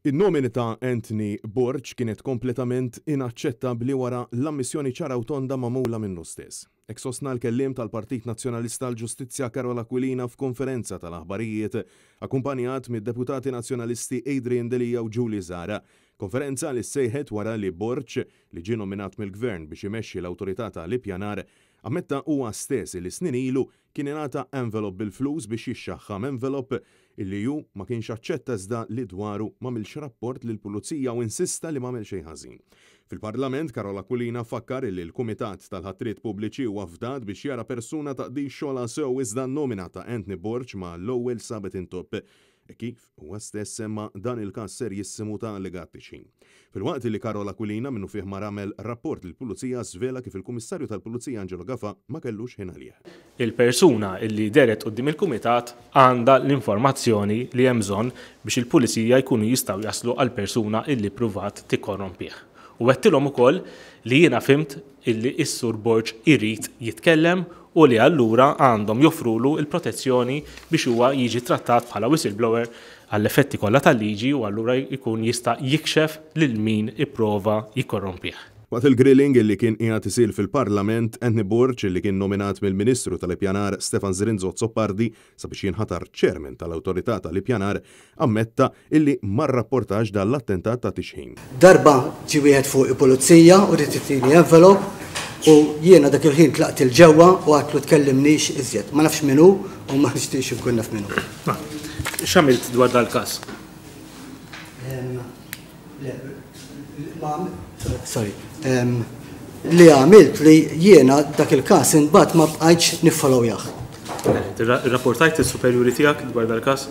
In-nomina ta' Anthony Borg kienet kompletament inaċċettabbli wara l-ammissjoni ċara u tonda magħmula minnu stess. Hekk sostna l-kelliem tal-Partit Nazzjonalista għall-Ġustizzja Karol Aquilina f'konferenza tal-aħbarijiet akkumpanjat mid-Deputati Nazzjonalisti Adrian Delia u Julie Zahra. Konferenza li ssejħet wara li Borg, li ġie nominat mill-Gvern biex imexxi l-Awtorità ta' l-Ippjanar, ammetta huwa stess li snin ilu Kien ingħata envelop bil-flus biex jixxaħħam, envelop illi hu ma kienx aċċetta iżda li dwaru m'għamilx rapport lill-Pulizija u insista li m'għamel xejn ħażin. Fil-Parlament, Karol Aquilina fakkar illi l-Kumitat tal-Ħatriet Pubbliċi huwa fdat biex jara persuna taqdix xogħolha sew iżda n-nomina ta' Anthony Borg mal-ewwel sabet intopp. Hekk kif huwa stess semma dan il-każ serjissimu ta' allegat tixħim. Filwaqt li Karol Aquilina minnufih mar għamel rapport lill-Pulizija żvela kif il-Kummissarju tal-Pulizija Angelo Gafà ma kellux ħin għalih. Il-persuna li dehret quddiem il-Kumitat għandha l-informazzjoni li hemm bżonn biex il-Pulizija jkunu jistgħu jaslu għall-persuna illi ppruvat tikkorrompih. U għedtilhom ukoll li jiena fhimt illi s-Sur Borg irid jitkellem u li allura għandhom joffrulu l-protezzjoni biex huwa jiġi trattat bħala whistleblower għall-effetti kollha tal-liġi u allura jkun jista' jikxef lil min ipprova jikkorrompih. Waqt il-grilling illi kien qiegħed isir fil-Parlament, Anthony Borg, illi kien nominat mill-Ministru tal-Ippjanar Stefan Zrinzo Azzopardi sabiex jinħatar Chairman tal-Awtorità tal-Ippjanar, ammetta illi ma rrapportax dan l-attentat ta' tixħim. Darba ġie wieħed fuqi pulizija u ried itini envelope u jiena dak il-ħin tlaqt 'il ġewwa u għadtlu tkellimnix iżjed. Ma nafx min hu u ma nixtieqx inkun naf min hu. X'għamilt dwar dal-każ? Le, ma, sorry. Li għamilt li jiena dak il-każ imbagħad ma bqajtx niffollowjah. Irrapportajt lis-superjuri tiegħek dwar dal-każ?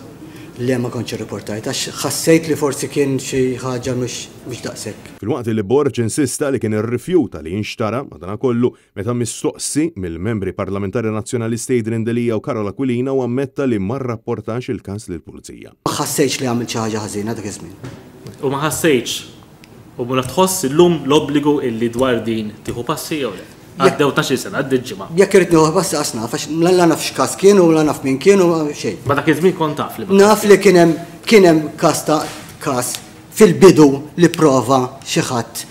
Le ma kontx irriportajt għax ħassejt li forsi kien xi ħaġa mhux daqshekk. Filwaqt li Borg insista li kien irrifjuta li jinxtara, madanakollu, Meta mistoqsi mill-Membri Parlamentari Nazzjonalisti Adrian Delia u Karol Aquilina hu ammetta li ma rrapportax il-każ lill-Pulizija. Ma ħassejtx li għamilt xi ħaġa ħażina dak iż-żmien. U ma ħassejtx u ma tħoss illum l-obbligu illi dwar din tieħu passi jew le? Għaddew tnax-il sena, għaddiet ġimgħa. Jekk irrid nieħu passi qas naf għax la naf x'każ kien u la naf min kien u xejn. Ma dak iż-żmien kont taf li. Naf li kien hemm kien hemm każ ta' każ fil-bidu li pprova xi ħadd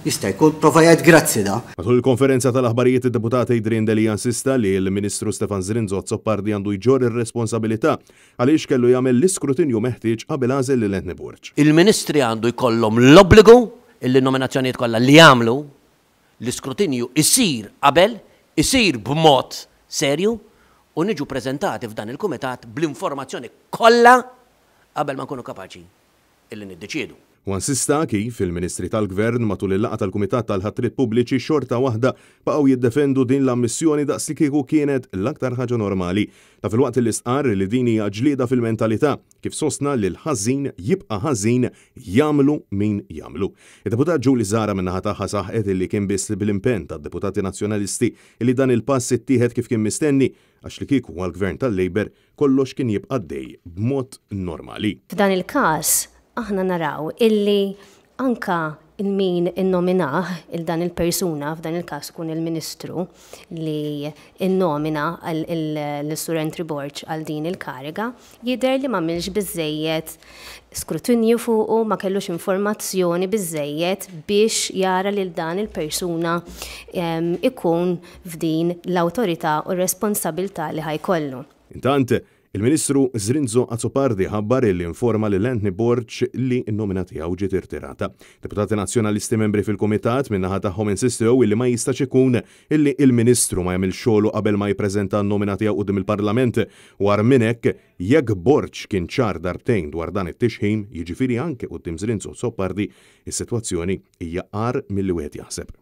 Jista' jkun prova jgħid grazzi da. Matul il-konferenza tal-aħbarijiet id-Deputat Adrian Delia insista li l-Ministru Stefan Zrinzo Azzopardi għandu jġorr ir-responsabilità għaliex kellu jagħmel l-iskrutinju meħtieġ qabel għażel lil Anthony Borg. Il-Ministri għandu jkollhom l-obbligu illi n-nominazzjonijiet kollha li jagħmlu, l-iskrutinju jsir qabel, isir b'mod serju u niġu preżentati f'dan il-Kumitat bl-informazzjoni kollha qabel ma nkunu kapaċi illi niddeċiedu. Huwa insista kif il-Ministri tal-Gvern matul il-laqgħa tal-Kumitat tal-Ħatriet Pubbliċi xorta waħda baqgħu jiddefendu din l-ammissjoni daqslikieku kienet l-aktar ħaġa normali. Dan filwaqt li stqarr li din hija ġlieda fil-mentalità, kif sostna li l-ħażin jibqa' ħażin jagħmlu min jagħmlu. Id-Deputat Julie Zahra min-naħa tagħha saħqet illi kien biss bl-impenn tad-Deputati Nazzjonalisti illi dan il-pass ittieħed kif kien mistenni għax li kieku għall-Gvern tal-Labour kollox kien jibqa' għaddej b'mod normali. F'dan il-każ aħna naraw illi anka min innominah il dan il-persuna, f'dan il-każ ikun il-Ministru li innomina l-Sur Entry Borg għal din il-kariga, jidher li m'għamilx biżżejjed skrutinju fuqu, ma kellux informazzjoni biżżejjed biex jara lil dan il-persuna ikun f'din l-awtorità u r-responsabilità li ħa jkollu. Intant, il-Ministru Zrinzo Azzopardi ħabbar li informa lil Anthony Borg li n-nomina tiegħu ġiet irtirata. Deputati Nazzjonalisti membri fil-Kumitat min-naħa tagħhom insistew illi ma jistax ikun illi il-Ministru ma jagħmilx xogħlu qabel ma jippreżenta n-nomina tiegħu quddiem il-Parlament u agħar minn hekk jekk Borg kien ċar darbtejn dwar dan it-tixħim, jiġifieri anke quddiem Zrinzo Azzopardi, is-sitwazzjoni hija agħar milli wieħed jaħseb.